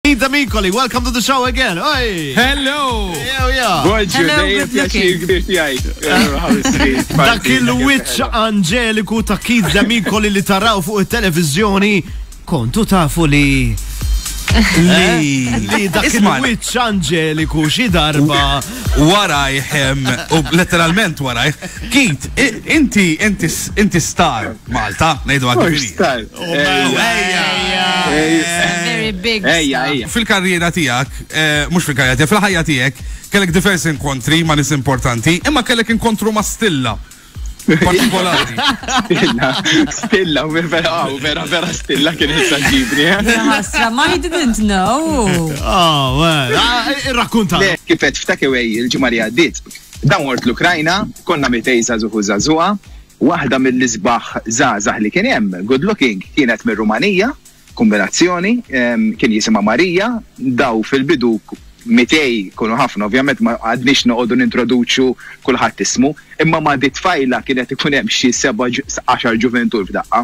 Keith Demicoli, welcome to the show again. Oi! Hello! Yeah, yeah. Bonġu, Hello, dejjem good looking. pjaċir kbir tiegħi. Dak il-wiċċ anġeliku ta' Keith Demicoli li taraw fuq it-televiżjoni, kontu tafu li Li. li dak Isma' il-wiċċ anġeliku xi darba warajh em, u letteralment warajh. Keith, i- inti inti inti star Malta, ngħidu għak Mhux star. Ejja. Very big. Ejja, star. ejja. Fil-karriera tiegħek, eh, mhux fil-karriera tiegħek, fil-ħajja tiegħek, kellek diversi inkontri ma' nies importanti, imma kellek inkontru ma' Stilla. Partikolari. Stilla, stilla, u vera, u vera, vera stilla kienet saġibni. eh. Ħasra, ma he didn't know. Oh, well, ah, irrakkunta. Le, kifet f'takeaway il-ġimgħa li għaddiet. Dan mort l-Ukrajna, konna mitej żagħżugħ u żagħżugħa, waħda mill-isbaħ żgħażagħ li kien hemm, good looking, kienet mir-Rumanija, kombinazzjoni, em, kien jisimha Marija, daw fil-bidu mitej kunu ħafna, ovvjament ma għadniex noqogħdu nintroduċu kulħadd ismu, imma ma di tfajla kienet ikun hemm xi seba' għaxar ġuventur f'daqqa.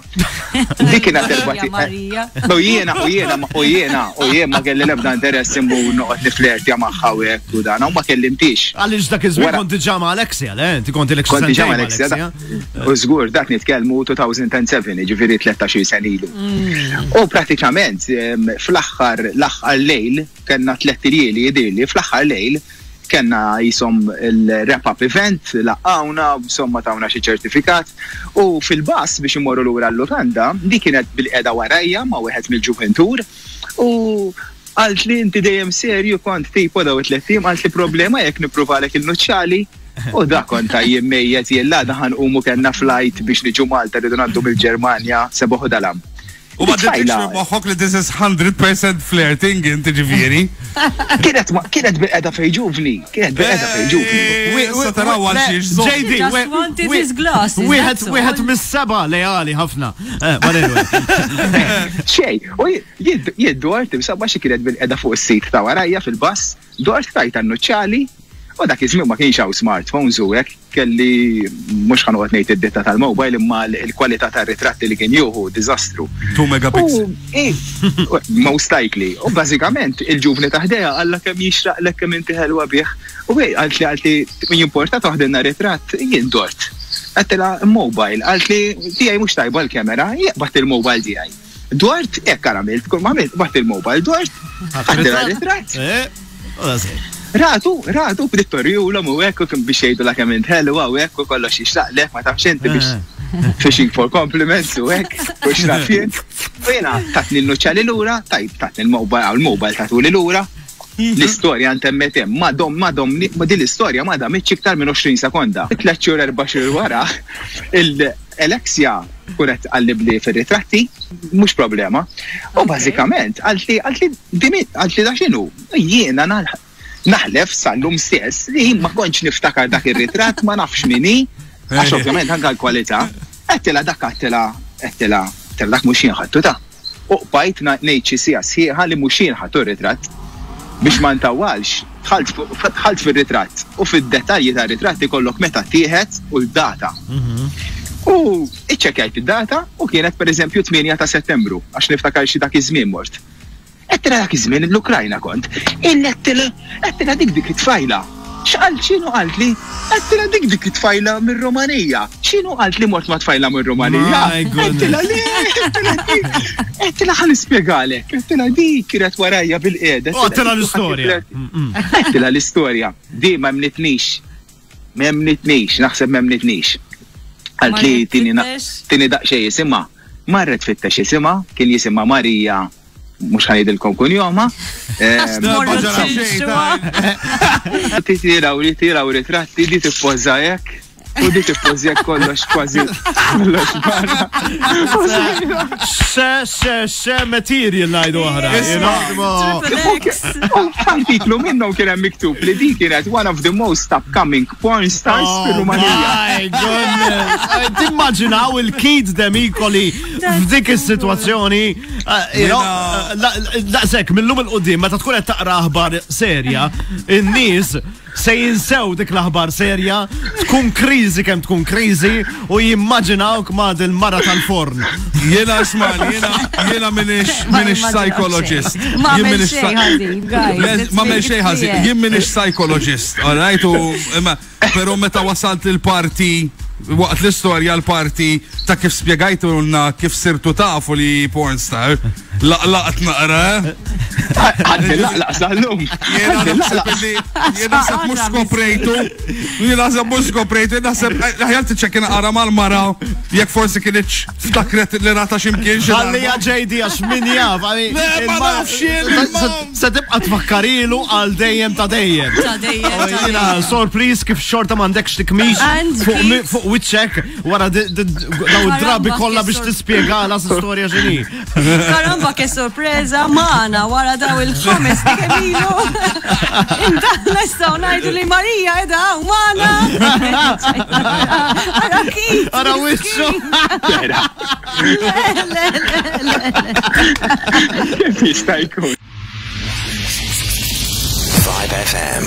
Dik kienet Marija, erba' Marija. U jiena, u jiena, u jiena, u jien ma kelli l-ebda interess immur noqgħod niflertja magħha u hekk u dan, u ma kellimtix. Għaliex dak iż-żmien Wara- kont diġà ma' Alexia, le? Inti kont ilek xi Kont diġà sentejn ma' Alexia, da- U żgur dak nitkellmu 2007, ġifieri 13 sen ilu. U pratikament em, fl-aħħar l-aħħar lejl kellna tliet iljieli jidirli, fl-aħħar lejl kellna jisom il-wrap-up event, laqgħuna, insomma tawna xi ċertifikat. U fil-bas biex imorru lura l-lukanda, di kienet bil-qeda warajja ma' wieħed mill-ġuventur. U għalt li inti dejjem serju kont tipo daw it-tlet tim, għalt li problema jekk nippruvalek il-nuċċali. U da kont jien mejjet jella daħan umu kellna flight biex niġu Malta rridu ngħaddu mill-Ġermanja sebuħu dalam. U ma It-tfajla- didx moħħok li this is 100% flirting inti ġifieri. Kienet ma- kienet bil-qeda fej ġuvni, kienet bil-qeda fej ġuvni. Issa taraw għal xiex żomm. JD, He just we- wanted we- his glasses, Wieħed that's wieħed all. mis-seba' leali ħafna. Eh, but anyway. Xej, u jien dort imsabba xi kienet bil-qeda fuq is-sit ta' warajja fil-bass, dort tajta n-nuċċali, u dak iż-żmien ma kienx hawn smartphones u hekk kelli mhux ħanoqgħod ngħid id-ditta tal-mobile imma l-kwalità tar-ritratti li kien jieħu diżastru. 2 megapixel. U, eh, most likely. U bażikament il-ġuvni ta' ħdejha qalla kemm jixraqlek kemm inti ħelwa bih. U hej qalt li qalt li min jimporta toħdilna ritratt jien dort. Għedtilha mobile, qalt li tiegħi mhux tajba l-kamera, jaqbad il-mobile tiegħi. Dort, hekk għamilt, kull ma għamilt, bat il-mobile, dort, għedtilha ritratt. Eh, u that's it. Ratu, ratu, bdiet torjulhom u hekk u kien biex jgħidu la kemm int ħelwa u hekk u kollox jixraqlek, ma tafx inti biex fishing for compliments u hekk, u x'naf jien. U jiena tatni l-nuċċali lura, tajb tatni l-mobile, għaw l-mobile tatuli lura. L-istorja ntemmet hemm, ma dom, ma dom, ma din l-istorja ma damitx iktar minn 20 sekonda. Tliet xhur erba' xhur wara, il-Alexia kunet għallibli fir-ritratti, mhux problema. U bażikament għalt li għalt li dimi għalt li da x'inhu, jiena nal- naħlef sal-lum stess li ma kontx niftakar dak ir-ritratt, ma nafx min hi, għax ovvjament anke l-kwalità. Għedtilha dak għedtilha, għedtilha, għedtilha dak mhux jien ħadtu ta'. U qbajt ngħid xi siegħa sħiħa li mhux jien ħadtu r-ritratt. Biex ma ntawwalx, dħalt fuq- dħalt fir-ritratt u fid-dettalji tar-ritratt ikollok meta tieħed u l-data. U iċċekkjajt id-data u kienet pereżempju 8 ta' Settembru, għax niftakar xi dak iż-żmien mort. Għedtilha dak iż-żmien l-Ukrajna kont. Illettilha, għedtilha dik dik it-tfajla. X'qalt x'inhu qalt li? Għedtilha dik dik it-tfajla mir-Rumanija. X'inhu qalt li mort ma' tfajla mir-Rumanija? My goodness. Għedtilha le, għedtilha dik. Għedtilha ħa nispjegalek. Għedtilha dik kienet warajja bil-qiegħda. U għedtilha l-istorja. Għedtilha l-istorja. Di ma emnitnix. Ma emnitnix, naħseb ma emnitnix. Għalt li Marret tini na- tfittex? tini daqsxejn jisimha. Marret tfittex jisimha, kien jisimha Marija, mhux ħa ngħidilkom kunjoma. Għax tmorru ma ġara xejn, tfitxuha. Tiraw li tiraw ritratti di tippoża hekk u di tippoża hekk kollox kważi kollox barra. Xe, xe, xe material ngħidu aħna. you know? Triple X. U f'artiklu minnhom kien hemm miktub li din kienet one of the most upcoming porn stars Oh fir-Rumanija. my goodness. Eh, Timmaġinaw il-Keith Demicoli f'dik is-sitwazzjoni, eh, you know, eh, daqshekk millum il-qudiem meta tkun qed taqra aħbar serja, in-nies se jinsew dik l-aħbar serja, tkun kriżi kemm tkun kriżi u jimmaġinawk ma' dil-mara tal-forn. Jiena ismani, jiena jiena minix Ma minix immaġinaw psychologist. xejn. Ma Jien għamel minix xejn ħażin, guys, Le, let's Ma make għamel it xejn ħażin. clear. Jien minix psychologist, all right? U imma però meta wasalt il-parti waqt l-istorja l-parti ta' kif spjegajtulna kif sirtu tafu li pornstar, laqlaqt naqra, eh? Għadni laqlaq sal-lum. Jiena Għadni naħseb laqlaq. li jien naħseb mhux skoprejtu. Jien naħseb mhux skoprejtu, jien naħseb aħjar tiċċekkina qara mal-mara jekk forsi kienx ftakret li rata x'imkien xi Ħallija darba. JD għax min jaf. għali, Le, ma il-mara- nafx jien, Se- ma- Se tibqa tfakkarilu għal dejjem ta' dejjem. Ta' dejjem, ta' Jiena dejjem. sorpriż kif xorta m'għandekx tikmix And fuq Keith- fuq wiċċek wara daw id-drabi Karamba, kollha kif biex sor- tispjegala s-storja x'inhi. Karamba ke sorpresa maħna wara daw il-ħames kemilu. Intan nistgħu ngħidu li Marija edha hawn maħna. Ara kif. Ara wiċċu. Vera, Le, le, le, le. Kif jista' jkun? 5FM.